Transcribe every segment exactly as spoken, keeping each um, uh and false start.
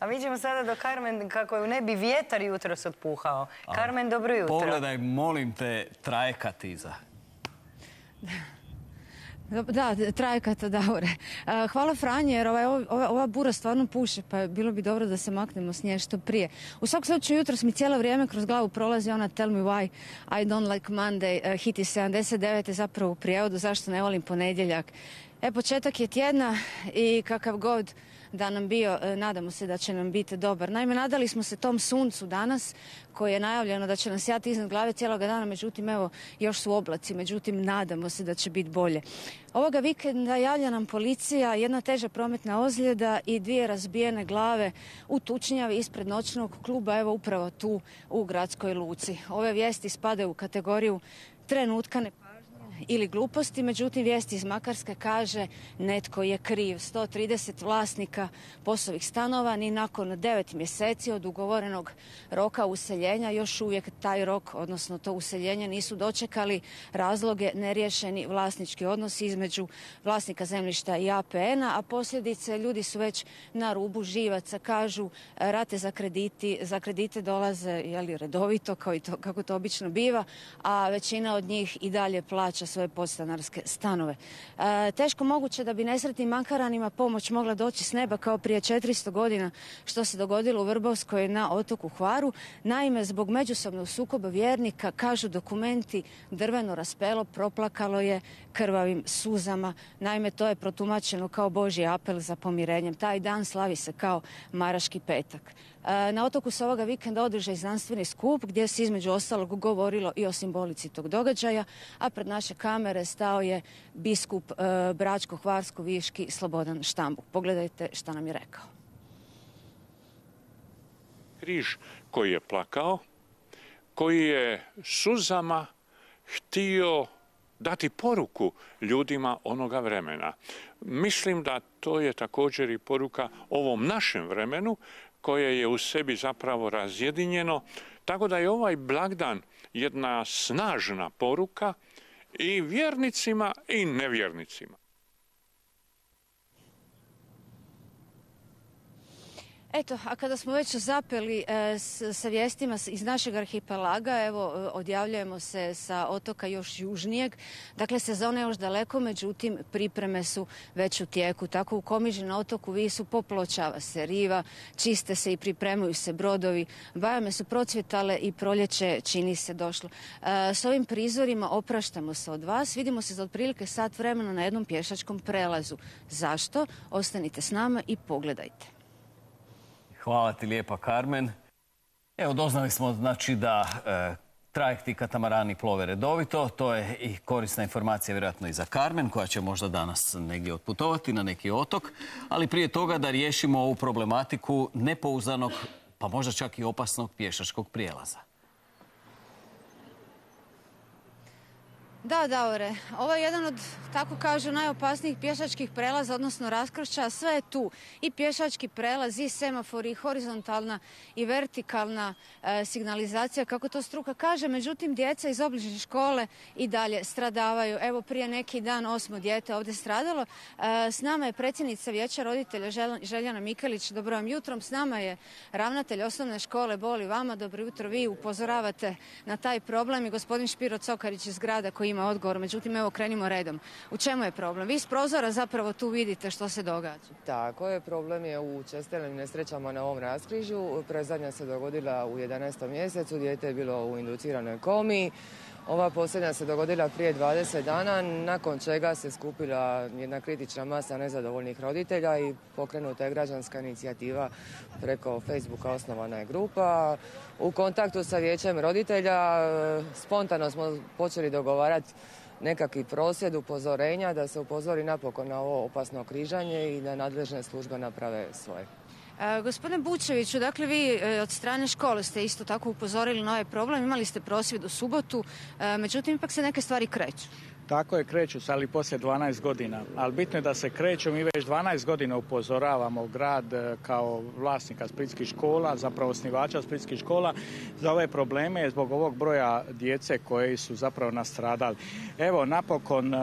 A mi ćemo sada do Carmen, kako ju ne bi vjetar jutros otpuhao. Carmen, dobro jutro. Pogledaj, molim te, trajekat iza. Da, trajekata, Davore. Hvala Franje, jer ova, ova, ova bura stvarno puše, pa bilo bi dobro da se maknemo s nje što prije. U svakom slučaju jutros mi cijelo vrijeme kroz glavu prolazi ona Tell me why I don't like Monday, hit iz sedamdeset devete zapravo u prijevodu, zašto ne volim ponedjeljak. E, početak je tjedna i kakav god da nam bio, nadamo se da će nam biti dobar. Naime, nadali smo se tom suncu danas, koje je najavljeno da će nas sjati iznad glave cijeloga dana, međutim, evo, još su oblaci, međutim, nadamo se da će biti bolje. Ovoga vikenda javlja nam policija jedna teža prometna ozljeda i dvije razbijene glave u tučnjavi ispred noćnog kluba, evo upravo tu u gradskoj luci. Ove vijesti spadaju u kategoriju trenutka nepažnje ili gluposti, međutim vijesti iz Makarske kaže netko je kriv. sto trideset vlasnika POS-ovih stanova ni nakon devet mjeseci od ugovorenog roka useljenja još uvijek taj rok, odnosno to useljenje, nisu dočekali. Razloge neriješeni vlasnički odnosi između vlasnika zemljišta i A P N-a, a posljedice ljudi su već na rubu živaca. Kažu, rate za, krediti, za kredite dolaze jeli, redovito, kao i to, kako to obično biva, a većina od njih i dalje plaća svoje podstanarske stanove. E, teško moguće da bi nesretnim Makaranima pomoć mogla doći s neba kao prije četiristo godina, što se dogodilo u Vrbovskoj na otoku Hvaru. Naime, zbog međusobnog sukoba vjernika, kažu dokumenti, drveno raspelo proplakalo je krvavim suzama. Naime, to je protumačeno kao Božji apel za pomirenjem. Taj dan slavi se kao Maraški petak. E, na otoku se ovoga vikenda održao znanstveni skup gdje se između ostalog govorilo i o simbolici tog događaja, a pred naše kamere stao je biskup e, Bračko-Hvarsko-Viški Slobodan Štambuk. Pogledajte šta nam je rekao. Križ koji je plakao, koji je suzama htio dati poruku ljudima onoga vremena. Mislim da to je također i poruka ovom našem vremenu koje je u sebi zapravo razjedinjeno, tako da je ovaj blagdan jedna snažna poruka i vjernicima i nevjernicima. Eto, a kada smo već zapeli e, s, sa vijestima iz našeg arhipelaga, evo, odjavljujemo se sa otoka još južnijeg. Dakle, sezona je još daleko, međutim, pripreme su već u tijeku. Tako u Komiži na otoku Visu popločava se riva, čiste se i pripremaju se brodovi, bajame su procvjetale i proljeće čini se došlo. E, s ovim prizorima opraštamo se od vas. Vidimo se za otprilike sat vremena na jednom pješačkom prelazu. Zašto? Ostanite s nama i pogledajte. Hvala ti lijepa, Carmen. Evo, doznali smo znači da e, trajekti i katamarani plove redovito. To je i korisna informacija vjerojatno i za Carmen, koja će možda danas negdje otputovati na neki otok. Ali prije toga da riješimo ovu problematiku nepouzdanog, pa možda čak i opasnog pješačkog prijelaza. Da, Davore, ovo je jedan od, tako kažu, najopasnijih pješačkih prelaza, odnosno raskršća. Sve je tu. I pješački prelaz, i semafori, i horizontalna i vertikalna e, signalizacija, kako to struka kaže. Međutim, djeca iz obližnje škole i dalje stradavaju. Evo, prije neki dan osmo dijete ovdje stradalo. E, s nama je predsjednica Vijeća roditelja Željana Mikelić. Dobro vam jutrom. S nama je ravnatelj osnovne škole Boli vama. Dobro jutro. Vi upozoravate na taj problem i gospodin Špiro Cokarić iz grada koji ima odgovor. Međutim, evo, krenimo redom. U čemu je problem? Vi s prozora zapravo tu vidite što se događa. Tako je, problem je u čestim nesrećama na ovom raskrižju. Predzadnja se dogodila u jedanaestom mjesecu, dijete je bilo u induciranoj komi. Ova posljednja se dogodila prije dvadeset dana, nakon čega se skupila jedna kritična masa nezadovoljnih roditelja i pokrenuta je građanska inicijativa preko Facebooka, osnovana je grupa. U kontaktu sa vijećem roditelja spontano smo počeli dogovarati nekakvi prosvjed, upozorenja, da se upozori napokon na ovo opasno križanje i da nadležne službe naprave svoje. E, gospodine Bučeviću, dakle vi e, od strane škole ste isto tako upozorili na ovaj problem, imali ste prosvjed u subotu, e, međutim ipak se neke stvari kreću. Tako je, kreću se, ali poslije dvanaest godina. Ali bitno je da se kreću, mi već dvanaest godina upozoravamo grad kao vlasnika splitskih škola, zapravo osnivača splitskih škola, za ove probleme zbog ovog broja djece koji su zapravo nastradali. Evo, napokon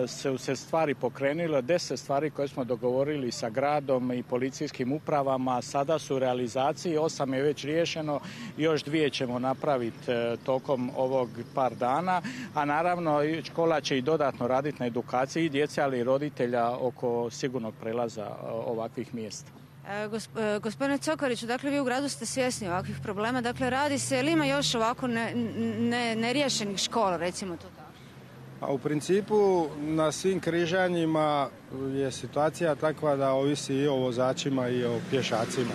su se stvari pokrenule, deset stvari koje smo dogovorili sa gradom i policijskim upravama, sada su u realizaciji, osam je već riješeno, još dvije ćemo napraviti tokom ovog par dana, a naravno škola će i dodatno raditi na edukaciji i djece, ali i roditelja oko sigurnog prelaza ovakvih mjesta. E, gosp, e, gospodine Cokariću, dakle vi u gradu ste svjesni ovakvih problema, dakle radi se, ili ima još ovako ne, ne, neriješenih škola, recimo to tako? A u principu na svim križanjima je situacija takva da ovisi i o vozačima i o pješacima.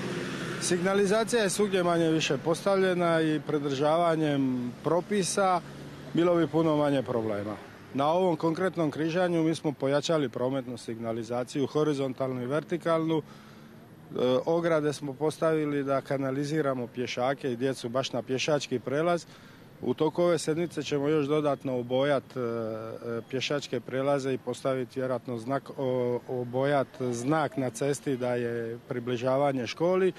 Signalizacija je svugdje manje više postavljena i pridržavanjem propisa bilo bi puno manje problema. Na ovom konkretnom križanju mi smo pojačali prometnu signalizaciju, horizontalnu i vertikalnu. E, ograde smo postavili da kanaliziramo pješake i djecu baš na pješački prelaz. U toku ove sedmice ćemo još dodatno obojati e, pješačke prelaze i postaviti vjerojatno znak, o, obojati znak na cesti da je približavanje školi.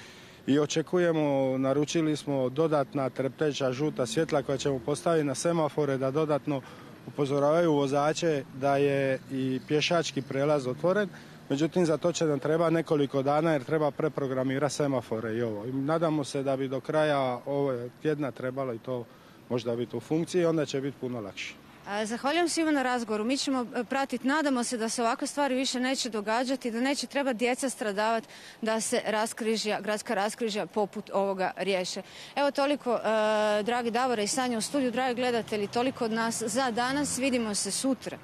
I očekujemo, naručili smo dodatna trepteća žuta svjetla koja ćemo postaviti na semafore da dodatno upozoravaju vozače da je i pješački prelaz otvoren. Međutim, za to će nam treba nekoliko dana jer treba preprogramirati semafore i ovo. I nadamo se da bi do kraja ove tjedna trebalo i to možda biti u funkciji, onda će biti puno lakše. Zahvaljujem svima na razgovoru. Mi ćemo pratiti, nadamo se da se ovakve stvari više neće događati, da neće treba djeca stradavati, da se raskrižja, gradska raskrižja poput ovoga riješe. Evo toliko, uh, dragi Davore i Sanja u studiju, dragi gledatelji, toliko od nas za danas. Vidimo se sutra.